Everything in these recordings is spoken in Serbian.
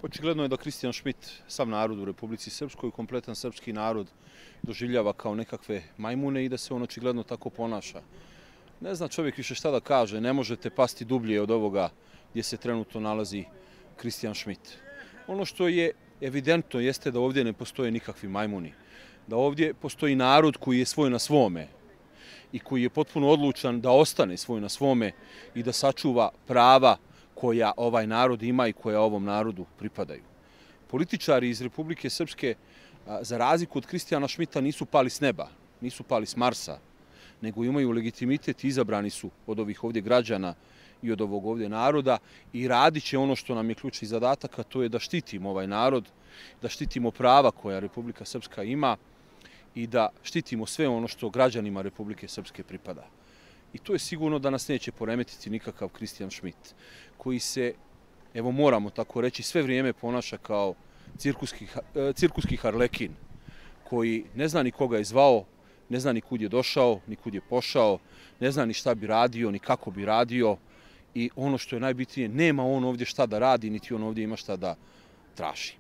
Očigledno je da Kristijan Šmit sav narod u Republici Srpskoj, kompletan srpski narod doživljava kao nekakve majmune i da se on očigledno tako ponaša. Ne zna čovjek više šta da kaže, ne možete pasti dublje od ovoga gdje se trenutno nalazi Kristijan Šmit. Ono što je evidentno jeste da ovdje ne postoje nikakvi majmuni, da ovdje postoji narod koji je svoj na svome i koji je potpuno odlučan da ostane svoj na svome i da sačuva prava koja ovaj narod ima i koja ovom narodu pripadaju. Političari iz Republike Srpske, za razliku od Kristijana Šmita, nisu pali s neba, nisu pali s Marsa, nego imaju legitimitet i izabrani su od ovih ovdje građana i od ovog ovdje naroda i radit će ono što nam je ključni zadatak, a to je da štitimo ovaj narod, da štitimo prava koja Republika Srpska ima i da štitimo sve ono što građanima Republike Srpske pripada. I to je sigurno da nas neće poremetiti nikakav Kristijan Šmit, koji se, evo moramo tako reći, sve vrijeme ponaša kao cirkuski harlekin, koji ne zna ni koga je zvao, ne zna ni kud je došao, ni kud je pošao, ne zna ni šta bi radio, ni kako bi radio i ono što je najbitnije, nema on ovdje šta da radi, niti on ovdje ima šta da traži.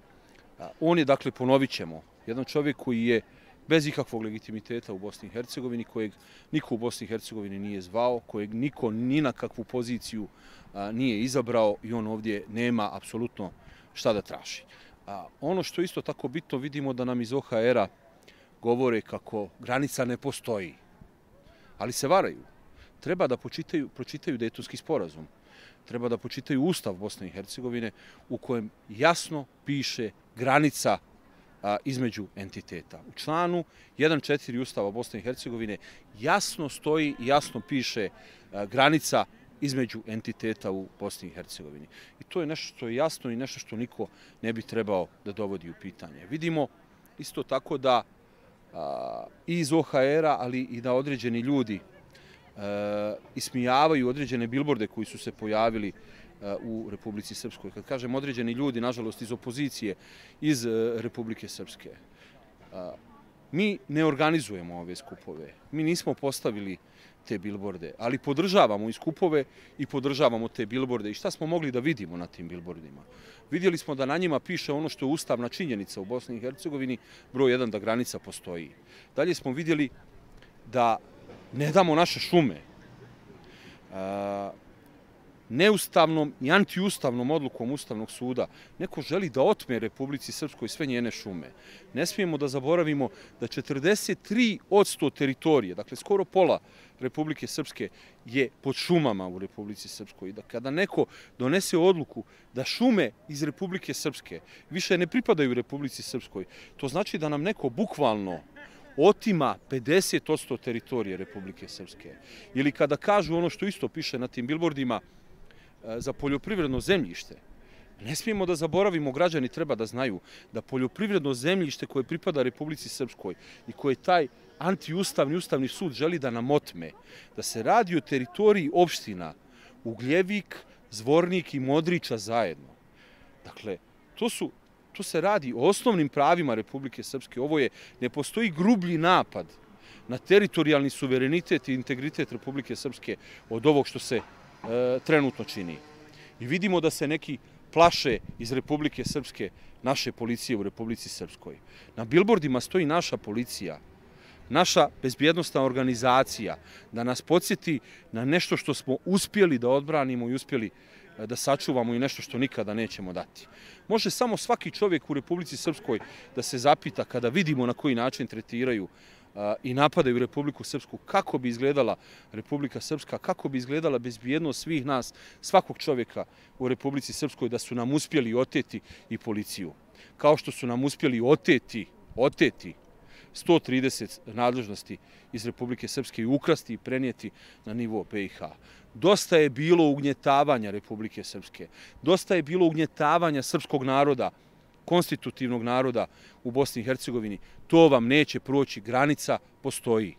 On je, dakle, ponovit ćemo, jedan čovjek koji je bez ikakvog legitimiteta u Bosni i Hercegovini, kojeg niko u Bosni i Hercegovini nije zvao, kojeg niko ni na kakvu poziciju nije izabrao i on ovdje nema apsolutno šta da traži. Ono što je isto tako bitno, vidimo da nam iz OHR-a govore kako granica ne postoji, ali se varaju. Treba da pročitaju Dejtonski sporazum, treba da pročitaju Ustav Bosne i Hercegovine u kojem jasno piše granica između entiteta. U članu 1.4 Ustava Bosne i Hercegovine jasno stoji i jasno piše granica između entiteta u Bosni i Hercegovini. I to je nešto što je jasno i nešto što niko ne bi trebao da dovodi u pitanje. Vidimo isto tako da i iz OHR-a, ali i da određeni ljudi ismijavaju određene bilborde koji su se pojavili u Republici Srpskoj. Kad kažem određeni ljudi, nažalost, iz opozicije, iz Republike Srpske. Mi ne organizujemo ove skupove, mi nismo postavili te bilborde, ali podržavamo i skupove i podržavamo te bilborde. I šta smo mogli da vidimo na tim bilbordima? Vidjeli smo da na njima piše ono što je ustavna činjenica u Bosni i Hercegovini, broj 1, da granica postoji. Dalje smo vidjeli da ne damo naše šume. Neustavnom i antiustavnom odlukom Ustavnog suda neko želi da otme Republici Srpskoj sve njene šume. Ne smijemo da zaboravimo da 43% teritorije, dakle skoro pola Republike Srpske, je pod šumama u Republici Srpskoj. Da kada neko donese odluku da šume iz Republike Srpske više ne pripadaju Republici Srpskoj, to znači da nam neko bukvalno otima 50% teritorije Republike Srpske. Ili kada kažu ono što isto piše na tim bilbordima, za poljoprivredno zemljište. Ne smijemo da zaboravimo, građani treba da znaju da poljoprivredno zemljište koje pripada Republici Srpskoj i koje taj antiustavni Ustavni sud želi da nam otme, da se radi o teritoriji opština Ugljevik, Zvornik i Modriča zajedno. Dakle, to se radi o osnovnim pravima Republike Srpske. Ne postoji grublji napad na teritorijalni suverenitet i integritet Republike Srpske od ovog što se trenutno čini. I vidimo da se neki plaše iz Republike Srpske naše policije u Republici Srpskoj. Na bilbordima stoji naša policija, naša bezbjednostna organizacija, da nas podsjeti na nešto što smo uspjeli da odbranimo i uspjeli da sačuvamo i nešto što nikada nećemo dati. Može samo svaki čovjek u Republici Srpskoj da se zapita kada vidimo na koji način tretiraju i napadaju Republiku Srpsku, kako bi izgledala Republika Srpska, kako bi izgledala bezbjednost svih nas, svakog čovjeka u Republici Srpskoj, da su nam uspjeli oteti i policiju. Kao što su nam uspjeli oteti 130 nadležnosti iz Republike Srpske i ukrasti i prenijeti na nivo BiH. Dosta je bilo ugnjetavanja Republike Srpske, dosta je bilo ugnjetavanja srpskog naroda, konstitutivnog naroda u Bosni i Hercegovini. To vam neće proći, granica postoji.